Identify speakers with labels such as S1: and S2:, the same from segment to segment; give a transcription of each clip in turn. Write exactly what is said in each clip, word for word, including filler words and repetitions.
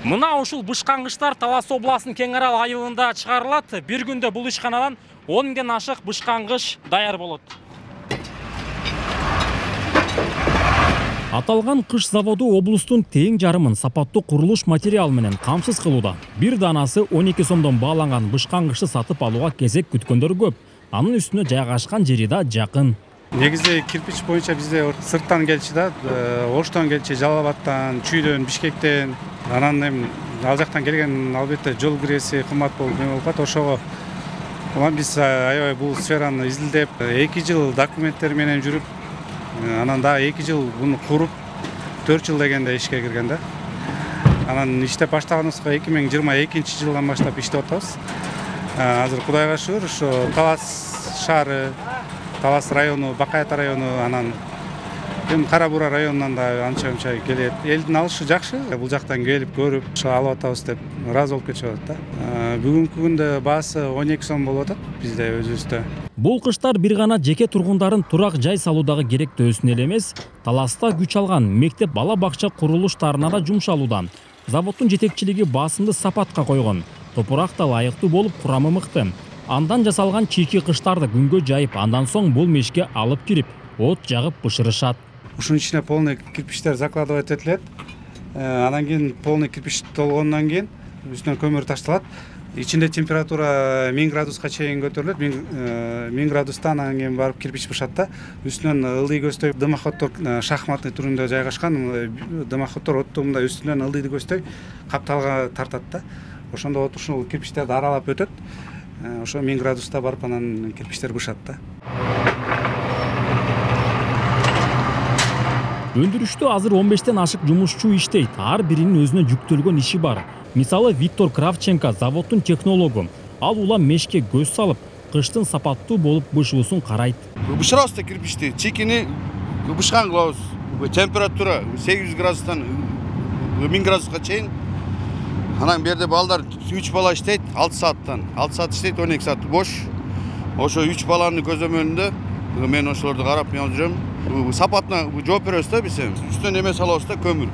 S1: Мына ушул бышкангычтар Талас областынын Кең Арал айылында чыгарылат. Бир күндө бул ишканадан он миңден ашык бышкангыч даяр болот. Аталган кыш заводу облустун тең жарымын сапаттуу курулуш материал менен камсыз кылууда. Бир данасы он эки сомдон бааланган бышкангычты сатып алууга кезек күткөндөр көп. Анын үстүнө жайгашкан жери да жакын.
S2: Негизи кирпич боюнча бизде сырттан келчи да, Оштон келчи, Жалал абадтан, Чүйдөн, Бишкектен. Анан эми ал жактан келген албетте жол киреси кымбат болуп не болуп калат. Ошого улам биз аябай бул сфераны изилдеп, эки жыл документтер менен жүрүп, анан дагы эки жыл буну куруп, төрт жыл дегенде ишке кирген да. Анан иштеп баштаганыбызга эки миң жыйырма экинчи жылдан баштап иштеп атабыз. Азыр Кудайга шүгүр, ошо Талас шаары, Талас району, Бакаята району, анан эми Кара Бура районунан да анча-мынча келет. Элдин алышы жакшы, бул жактан келип көрүп, ошо алып атабыз деп ыраазы болуп кетишип атат да. Бүгүнкү күндө баасы он эки сом болуп атат бизде өзүбүздө.
S1: Бул кыштар бир гана жеке тургундарын турак жай салуудагы керектөөсүнө эле эмес, Таласта күч алган мектеп бала бакча курулуштарына да жумшалуудан. Заводдун жетекчилиги басымды сапатка койгон. Топурак да ылайыктуу болуп, курамы мыкты. Андан жасалган чийки кыштарды күнгө жайып, андан соң бул мешке алып кирип, от жагып бышырышат.
S2: Ушунун ичине полный кирпичтер закладывать этилет. Анан кийин полный кирпич толгондон кийин үстүнө көмүр ташталат. Ичинде температура миң градуска чейин көтөрүлөт. миң градустан анан кийин барып кирпич бышат да. Үстүнөн ылдый көздөй дымоходдор шахматный түрүндө жайгашкан. Дымоходдор отту мындай үстүнөн ылдыйды көздөй капталга тартат да. Ошондо от ушул кирпичтерди аралап өтөт. Ошо миң градуста барып анан кирпичтер бышат да.
S1: Өндүрүштө азыр он бештен ашык жумушчу иштейт. Ар биринин өзүнө жүктөлгөн иши бар. Мисалы Виктор Кравченко заводдун технологу. Ал улам мешке көз салып, кыштын сапаттуу болуп бышуусун карайт.
S3: Бышырабыз да кирпичти, чийкини бышкан кылабыз. Температура сегиз жүз градустан миң градуска чейин. Анан берде балдар үч бала иштейт, алты сааттан. алты саат иштейт, он эки саат бош. Ошо үч баланын көзөмөлүндө мен ошолорду карап мен жүрөм. Сапатына жооп беребиз да биз. Үстүнөн эме салабыз да, көмүр.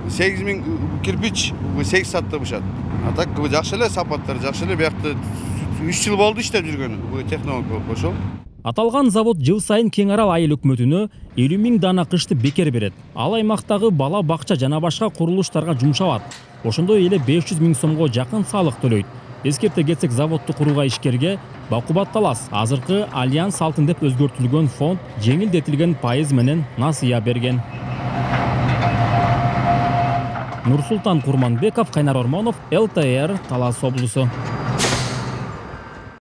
S3: сегиз миң кирпич сегиз саатта бышат. А так жакшы эле сапаттар, жакшы эле. Биякта үч жыл болду иштеп жүргөнү. Бул технолог болуп ошол.
S1: Аталган завод жыл сайын Кең Арал айыл өкмөтүнө элүү миң дана кышты бекер берет. Ал аймактагы бала бакча жана башка курулуштарга жумшалат. Ошондой эле беш жүз миң сомго жакын салык төлөйт. Эскерте кетсек, заводду курууга ишкерге Бакубат Талас азыркы Альянс алтын деп өзгөртүлгөн фонд жеңилдетилген пайыз менен насыя берген. Нурсултан Курманбеков, Кайнар Ормонов, эл тэ эр, Талас облусу.